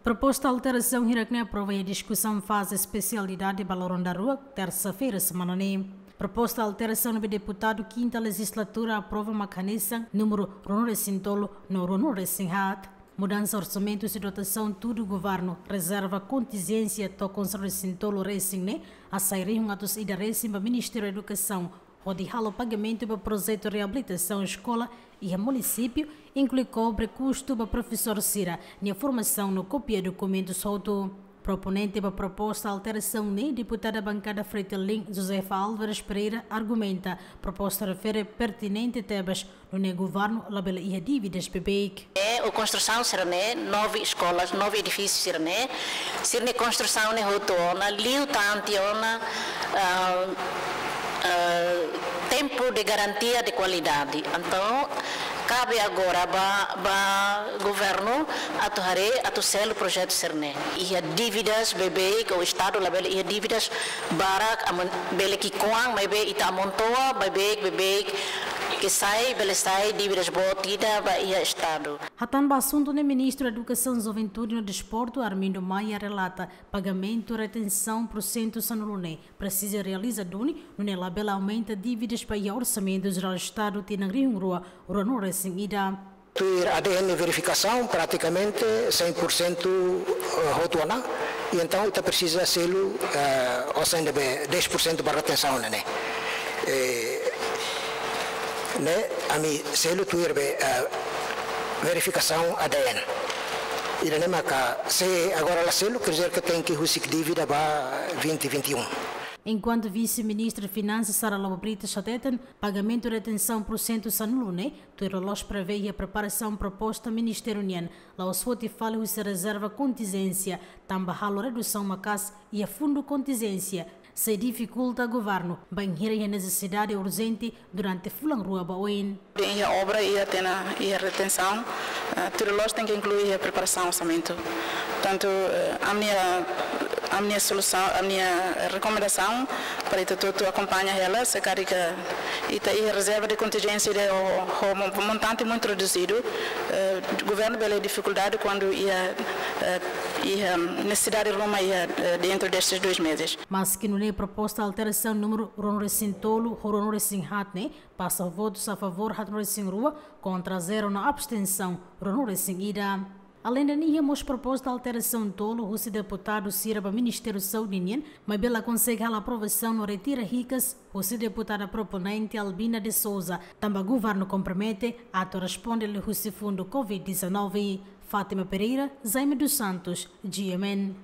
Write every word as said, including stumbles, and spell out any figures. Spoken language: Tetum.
Proposta alterasaun hirak-ne'e aprova iha diskusaun faze espesialidade ba loron daruak, tersa-feira semana ne'e. Proposta alterasaun ne'ebé deputadu kinta lejizlatura aprova mak hanesan númeru ruanulu-resin-tolu no ruanulu-resin-haat. Mudansa orsamentu husi dotasaun tudu governu, rezerva kontinjénsia to'o konsellu resin-tolu resin ne'e hasai rihun atus ida resin ba Ministériu Edukasaun, hodi halo pagamentu ba projetu reabilitasaun eskola iha munisípiu, inklui kobre kustu ba profesór sira-nia formasaun no kopia dokumentus hotu. Proponente ba proposta alterasaun ne'e, deputada bankada Fretilin, Josefa Álvares Pereira, argumenta proposta refere pertinente tebes, nune'e governu labele iha dívidas beibeik. É, o construção sira-ne'e, nove escolas, nove edifícios sira-ne'e, sira-nia construção ne'e hotu ona, liu tanti ona, ah, ah, tempo de garantia de qualidade. Então, cabe agora ba, ba governu atu haree, atu selu projetu sira-ne'e. Iha dívidas beibeik, o Estadu labele iha dívidas barak, aman-, bele ki'ikoan, maibé ita amontoa beibeik, beibeik, ke sai, bele sai dívidas boot ida ba iha Estadu. Hatán ba asuntu ne'e, Ministru Edukasaun, Juventude no Desportu, Armindo Maia, relata pagamentu retensaun pursentu sanulu ne'e presiza realiza duni, nune'e labele aumenta dívidas ba iha Orsamentu Jerál Estadu tinan rihun rua ruanulu-resin-ida. Tuir A D N verifikasaun, pratikamente cem por cento, eh, hotu ona, i entaun ita presiza selu, eh, osan ne'ebé dez por cento ba retensaun ne'e. Eh, ne'e, ami selu tuir be, eh, verifikasaun A D N. Ida-ne'e maka, se agora la selu, quer dizer que tenke husik dívida ba vinte vinte e um. Enkuantu Vise-Ministru Finansas Sara Lobo Brites hateten, pagamentu retensaun pursentu sanulu ne'e, tuir loloos prevee iha preparasaun proposta ministériu nian, la'ós foti fali husi rezerva kontinjénsia, tanba halo redusaun maka'as iha fundu kontinjénsia, sei difikulta governu bainhira iha nesesidade urjente durante fulan rua ba oin. Iha obra iha tiha ona iha retensaun, eh, tuir loloos tenke inklui iha preparasaun orsamentu. Portantu, eh, ami-nia, ami-nia solusaun, ami-nia rekomendasaun para ita hotu-hotu akompaña hela, se karik ita iha rezerva de kontinjénsia ida ho, ho mo-, montante muitu reduzidu, eh, governu bele difikuldade kuandu iha, eh, iha nesesidade ruma iha, eh, dentro destes dois meses. Maski nune'e, proposta alterasaun númeru ruanulu-resin-tolu ho ruanulu-resin-haat ne'e pasa ho votus a favór haatnulu-resin-rua, kontra zero no abstensaun ruanulu-resin-ida. Aleinde ne'e, iha mós proposta alterasaun tolu husi deputadu sira ba Ministériu Saúde nian, maibé la konsege halo aprovasaun no retira hikas husi deputada proponente Albina de Souza, tanba governu kompromete atu responde liuhusi fundu covid dezanove. Fátima Pereira, Jaime dos Santos, G M N.